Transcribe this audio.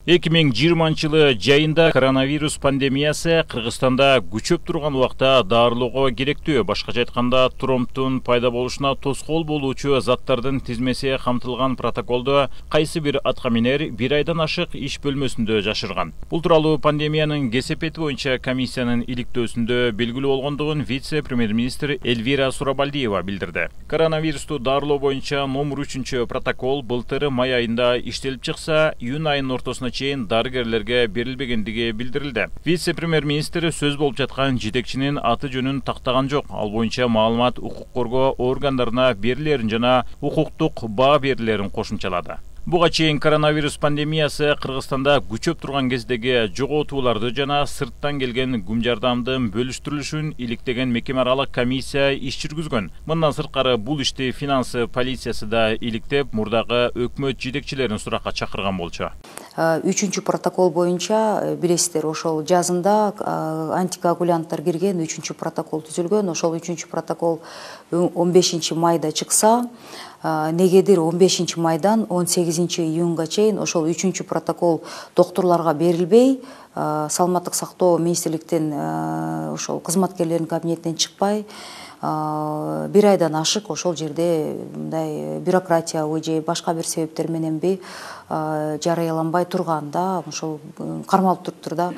2020 жайында коронавирус пандемиясы Кыргызстанда күчөп турган убакта дарылоого керектүү, башкача айтканда тромбтун пайда болушуна тоскоол болуучу заттардын тизмеси камтылган протоколду кайсы бир аткаминер 1 айдан ашык иш бөлмөсүндө жашырган. Бул тууралуу пандемиянын кесепети боюнча комиссиянын иликтөөсүндө белгилүү болгондугун вице-премьер-министр Эльвира Сурабалдиева билдирди. Коронавирусту дарылоо боюнча номер 3 протокол былтыр май айында иштелип чыкса, июнь айынын ортосуна чейин дарыгерлерге берилбегендиги билдирилди. Вице-премьер-министр сөз болуп жаткан жетекчинин аты жөнүн тактаган жок. Ал боюнча маалымат укук коргоо органдарына берилерин жана укуктук баа берилерин кошумчалады. Буга чейин коронавирус пандемиясы Кыргызстанда күчөп турган кездеги жоготууларды жана сырттан келген күм жардамдын бөлүштүрүлүшүн иликтеген мекеме аралык комиссия иш жүргүзгөн. Мындан сырткары бул ишти финансы полициясы да иликтеп, мурдагы өкмөт жетекчилерин суракка чакырган болчу. 3 протокол боюнча билесиздер, ошол жазында антикоагулянттар кирген 3 протокол түзүлгөн. Ошол 3 протокол 15 майда чыкса, негедир 15 майдан 18 июнга чейин ошол 3 протокол докторлорго берилбей, саламаттык сактоо министрликтин ошол кызматкерлеринин кабинетинен чыкпай, 1 айдан ашык ошол жерде мындай бюрократиябы же башка бир себептер мененби жарыяланбай турганда ошол кармалып туруптур да.